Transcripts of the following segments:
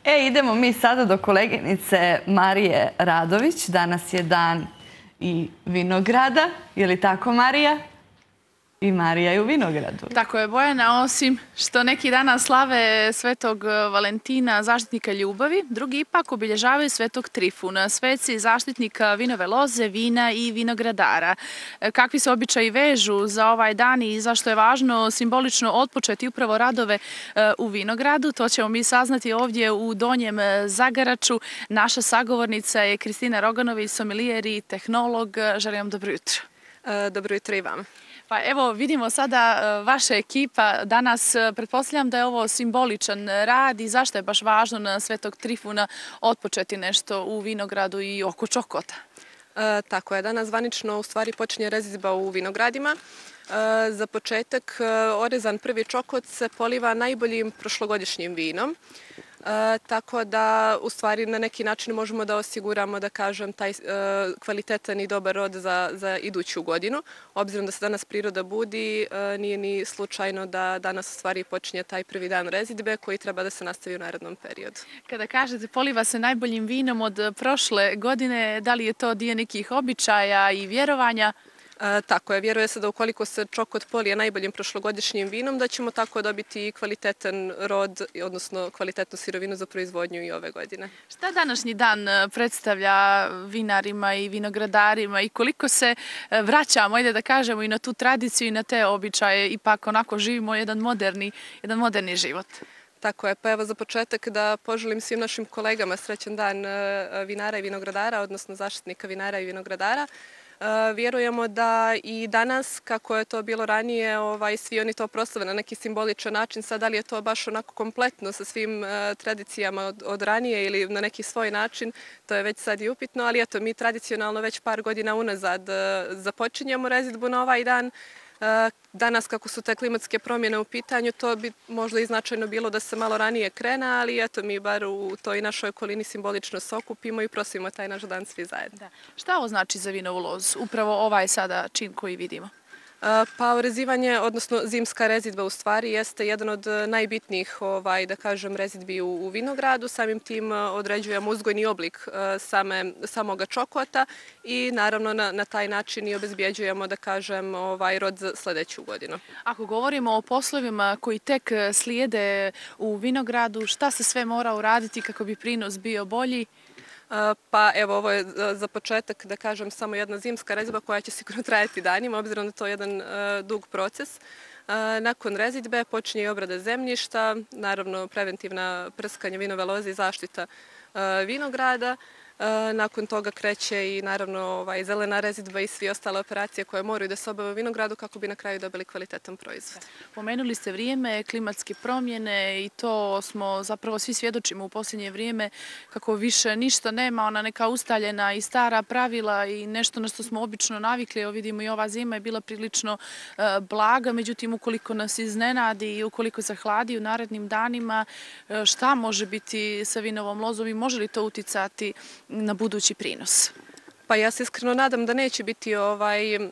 Idemo mi sada do koleginice Marije Radović. Danas je dan i vinograda. Je li tako, Marija? I Marija je u vinogradu. Tako je, Bojana, osim što neki danas slave Svetog Valentina, zaštitnika ljubavi, drugi ipak obilježavaju Svetog Trifuna, sveci zaštitnika vinove loze, vina i vinogradara. Kakvi se običaji vežu za ovaj dan i zašto je važno simbolično otpočeti upravo radove u vinogradu, to ćemo mi saznati ovdje u Donjem Zagaraču. Naša sagovornica je Kristina Roganović, somelijer i tehnolog. Želim vam dobro jutro. Dobro jutro i vama. Pa evo vidimo sada vaša ekipa. Danas pretpostavljam da je ovo simboličan rad i zašto je baš važno na Svetog Trifuna otpočeti nešto u vinogradu i oko Čokota? Tako je, danas zvanično u stvari počinje rezidba u vinogradima. Za početak orezan prvi čokot se poliva najboljim prošlogodišnjim vinom. Tako da u stvari na neki način možemo da osiguramo, da kažem, taj kvalitetan i dobar rod za iduću godinu. Obzirom da se danas priroda budi, nije ni slučajno da danas u stvari počinje taj prvi dan rezidbe koji treba da se nastavi u narednom periodu. Kada kažete poliva se najboljim vinom od prošle godine, da li je to dio nekih običaja i vjerovanja? Tako je, vjeruje se da ukoliko se čokot polije najboljim prošlogodišnjim vinom, da ćemo tako dobiti kvalitetan rod, odnosno kvalitetnu sirovinu za proizvodnju i ove godine. Šta današnji dan predstavlja vinarima i vinogradarima i koliko se vraćamo, ajde da kažemo, i na tu tradiciju i na te običaje, ipak onako živimo jedan moderni život? Tako je, pa evo za početak da poželim svim našim kolegama srećan dan vinara i vinogradara, odnosno zaštitnika vinara i vinogradara. Vjerujemo da i danas, kako je to bilo ranije, svi oni to proslave na neki simboličan način. Sad, da li je to baš onako kompletno sa svim tradicijama od ranije ili na neki svoj način, to je već sad i upitno, ali eto, mi tradicionalno već par godina unazad započinjemo rezidbu na ovaj dan. Danas, kako su te klimatske promjene u pitanju, to bi možda i značajno bilo da se malo ranije krene, ali eto, mi bar u toj našoj okolini simbolično se okupimo i prosimo taj naš dan svi zajedno. Da. Šta ovo znači za vinovu lozu? Upravo ovaj sada čin koji vidimo. Pa orezivanje, odnosno zimska rezidba u stvari jeste jedan od najbitnijih, da kažem, rezidbi u vinogradu. Samim tim određujemo uzgojni oblik samoga čokota i naravno na taj način i obezbjeđujemo, da kažem, rod za sljedeću godinu. Ako govorimo o poslovima koji tek slijede u vinogradu, šta se sve mora uraditi kako bi prinos bio bolji? Pa evo, ovo je za početak, da kažem, samo jedna zimska rezidba koja će sigurno trajati danima, obzirom da to je jedan dug proces. Nakon rezidbe počinje i obrada zemljišta, naravno preventivna prskanje vinove loze i zaštita vinograda. Nakon toga kreće i naravno zelena rezidba i svi ostale operacije koje moraju da se obave u vinogradu kako bi na kraju dobili kvalitetan proizvod. Pomenuli ste vrijeme, klimatske promjene i to smo zapravo svi svjedočimo u posljednje vrijeme kako više ništa nema, ona neka ustaljena i stara pravila i nešto na što smo obično navikli. Evo vidimo i ova zima je bila prilično blaga, međutim ukoliko nas iznenadi i ukoliko zahladi u narednim danima, šta može biti sa vinovom lozom i može li to uticati na budući prinos? Pa ja se iskreno nadam da neće biti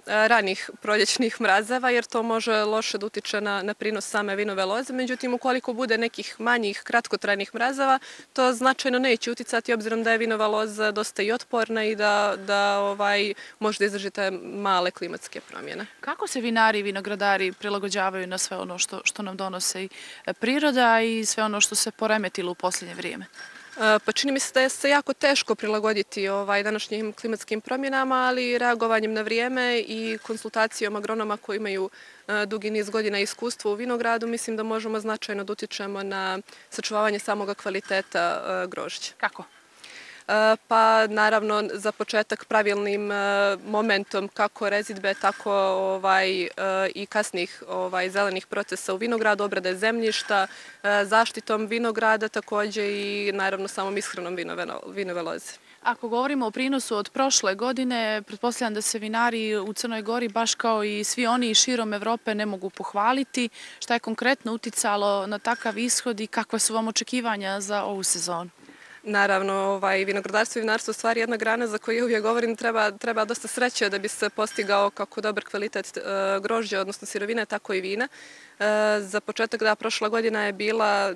ranih proljećnih mrazeva jer to može loše da utiče na prinos same vinove loze. Međutim, ukoliko bude nekih manjih kratkotrajnih mrazeva, to značajno neće uticati obzirom da je vinova loza dosta i otporna i da možda izdrži te male klimatske promjene. Kako se vinari i vinogradari prilagođavaju na sve ono što nam donose i priroda i sve ono što se poremetilo u posljednje vrijeme? Pa čini mi se da je se jako teško prilagoditi današnjim klimatskim promjenama, ali reagovanjem na vrijeme i konsultacijom agronoma koji imaju dugi niz godina iskustva u vinogradu, mislim da možemo značajno da utičemo na sačuvavanje samoga kvaliteta grožđa. Kako? Pa naravno za početak pravilnim momentom kako rezidbe, tako i kasnih zelenih procesa u vinogradu, obrade zemljišta, zaštitom vinograda također i naravno samom ishranom vinove loze. Ako govorimo o prinosu od prošle godine, pretpostavljam da se vinari u Crnoj Gori, baš kao i svi oni širom Evrope, ne mogu pohvaliti. Šta je konkretno uticalo na takav ishod i kakva su vam očekivanja za ovu sezonu? Naravno, vinogradarstvo i vinarstvo je stvari jedna grana za koju uvijek govorim treba dosta sreće da bi se postigao kako dobar kvalitet grožđa, odnosno sirovine, tako i vina. Za početak, da, prošla godina je bila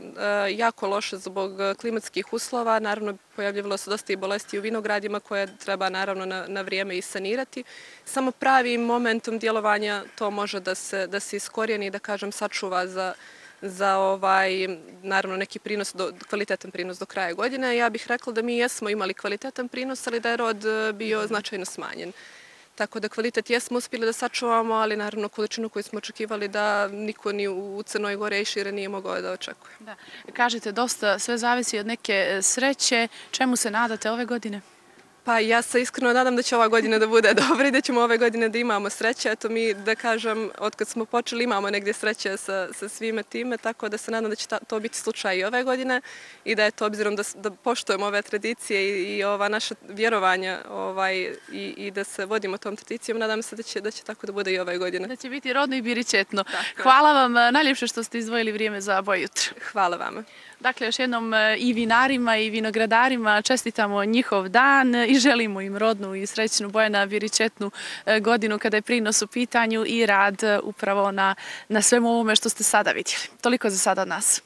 jako loša zbog klimatskih uslova. Naravno, pojavljivalo se dosta i bolesti u vinogradima koje treba naravno na vrijeme i sanirati. Samo pravim momentom djelovanja to može da se iskorijeni i da kažem sačuva za naravno neki prinos, kvalitetan prinos do kraja godine. Ja bih rekla da mi jesmo imali kvalitetan prinos, ali da je rod bio značajno smanjen. Tako da kvalitet jesmo uspjeli da sačuvamo, ali naravno količinu koju smo očekivali da niko ni u Crnoj Gori i šire nije mogao da očekuje. Da. Kažete, dosta sve zavisi od neke sreće. Čemu se nadate ove godine? Pa ja se iskreno nadam da će ova godina da bude dobra i da ćemo ove godine da imamo sreće. Eto mi, da kažem, od kad smo počeli imamo negdje sreće sa svime time, tako da se nadam da će to biti slučaj i ove godine i da je to obzirom da poštujemo ove tradicije i ova naša vjerovanja i da se vodimo tom tradicijom, nadam se da će tako da bude i ove godine. Da će biti rodno i biričetno. Hvala vam najljepše što ste izdvojili vrijeme za Boje jutra. Hvala vama. Dakle, još jednom i vinarima i vinogradarima čestitamo njihov dan i želimo im rodnu i srećnu Bojana biričetnu godinu kada je prinos u pitanju i rad upravo na svemu ovome što ste sada vidjeli. Toliko za sada od nas.